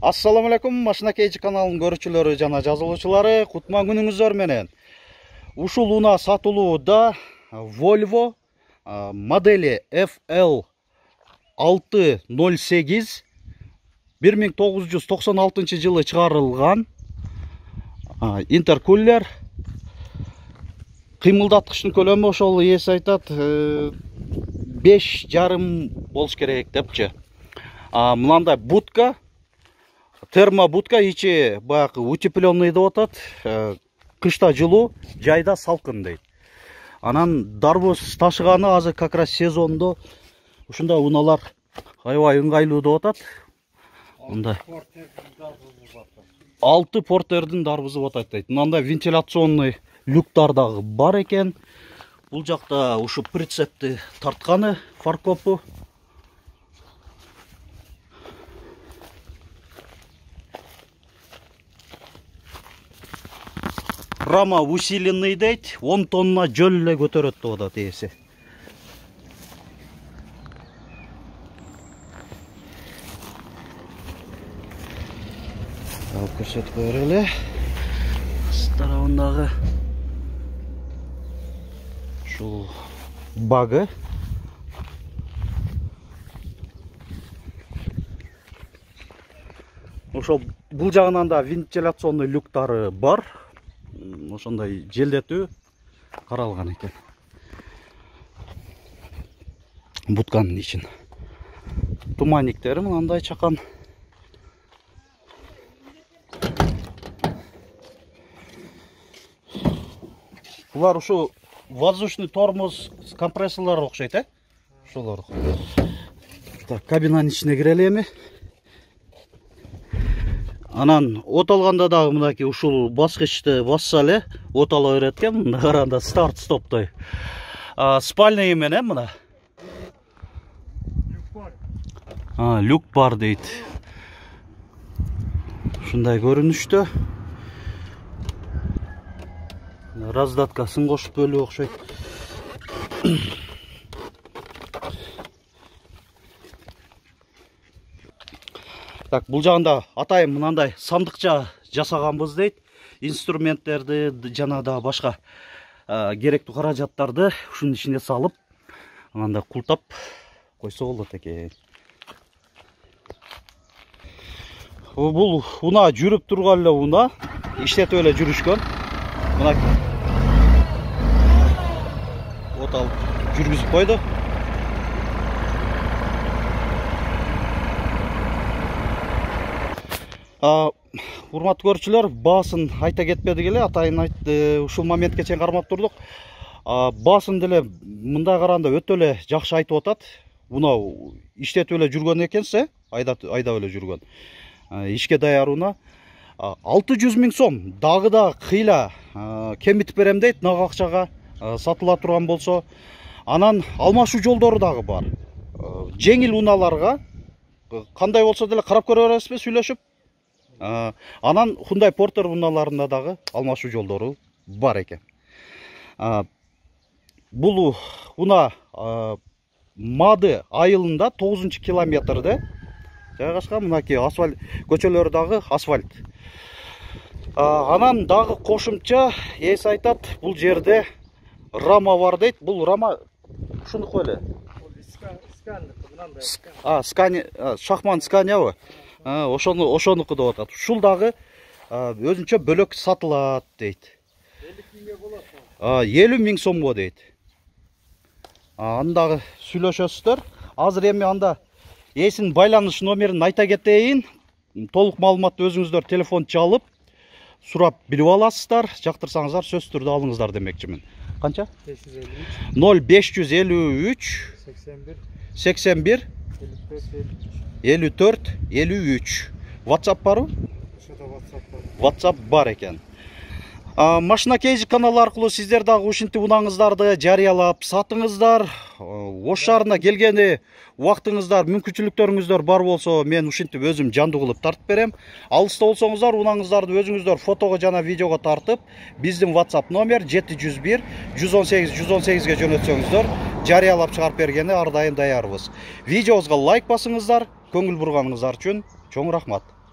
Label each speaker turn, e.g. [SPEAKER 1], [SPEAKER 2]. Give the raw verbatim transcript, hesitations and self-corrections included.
[SPEAKER 1] Assalamu alaikum, Машина Кейджи каналынын көрүүчүлөрү жана жазылуучулары, кутман күнүңүздөр менен. Ушул унаа сатылууда Volvo модели эф эл алты ноль сегиз бир миң тогуз жүз токсон алтынчы жылы чыгарылган интеркулер. Кыймылдаткычтын көлөмү ошол ээси айтат беш жарым болуш керек депчи. Мынандай будка, термобудка, ичи баягы утепленный деп атат. Кышта жылуу, жайда салкын дейт. Анан дарбоз ташыганы азыр как раз сезондо ушундай унаалар аябай ыңгайлуу деп атат. Мындай алты портердин дарбызы деп атат дейт. Мындай вентиляционный люктар дагы бар экен. Бул жакта ушу прицепти тартканы фаркопу. Рама усиленный дейт, он тонна жөл эле көтөрөт деп атат ээси. Алып көрсөтүп коелу эле. Тарабындагы ушул багы. Ошол бул жагынан да вентиляционный люктары бар. Ошондой желдетүү каралган экен. Бутканын ичин. Туманниктери мындай чакан. Булар ушу воздушный тормоз компрессорлор окшойт, э? Ошолор. Так, кабинанын ичине кирели эми. Анан от алганда дагы мынакей ушул баскычты басса эле от ала берет экен. Мында караганда старт стоптой. Спальный менен мына. А, люк бар дейт. Ушундай көрүнүштө. Раздаткасын кошуп бөлүү окшойт. Так, бул жагында атайын мынандай сандыкча жасаганбыз дейт. Инструменттерди жана да башка керектүү каражаттарды ушунун ичине салып, анда култап койсо болот экен. Бул унаа жүрүп турган эле унаа, иштетип эле жүрүшкөн. Мына от алып жүргүзүп койду. Урматтуу көрүүчүлөр, баасын айта кетпедик эле, атайын айтты, ушул моментке чейин кармап турдук. Баасын деле мындай караганда өтө эле жакшы айтып атат. Унаа иштетип эле жүргөн экенсе, айдап айдап эле жүргөн. Ишке даяр унаа алты жүз миң сом, дагы да кыйла кемитип берем дейт, нак акчага сатыла турган болсо. Анан алмашуу жолдору дагы бар. Жеңил унааларга кандай болсо деле карап көрө бересизби сүйлөшүп? Анан Hyundai Porter унааларында дагы алмашуу жолдору бар экен. Бул унаа Мады айылында тогузунчу километрде жайгашкан. Мынакей асфальт көчөлөрү дагы асфальт. Анан дагы кошумча ээси айтат, бул жерде рама бар дейт. Бул рама ушундук эле. А, Скания, Шахман Сканиябы? Ошону ошонуку деп атат. Ушул дагы өзүнчө бөлөк сатылат дейт. элүү миң сомго дейт. Аны дагы сүйлөшөсүздөр. Азыр эми анда ээсинин байланыш номерин айта кетейин. Толук маалыматты өзүңүздөр телефон чалып сурап билип аласыздар. Жактырсаңыздар сөзсүз түрдө алыңыздар демекчимин. Канча? ноль беш жүз элүү үч сексен бир элүү төрт элүү үч. WhatsApp барбы? WhatsApp бар экен. Машина Кейджи каналы аркылуу сиздер дагы ушинтип унааңыздарды жарыялап сатыңыздар. Ош шаарына келгени убактыңыздар, мүмкүнчүлүктөрүңүздөр бар болсо, мен ушинтип өзүм жандуу кылып тартып берем. Алыста болсоңуздар, унааңыздарды өзүңүздөр фотого жана видеого тартып, биздин WhatsApp номер жети жүз бир жүз он сегиз жүз он сегизге жөнөтсөңүздөр, жарыялап чыгарып бергени ар дайым даярбыз. Видеобузга лайк басыңыздар, көңүл бурганыңыздар үчүн чоң рахмат.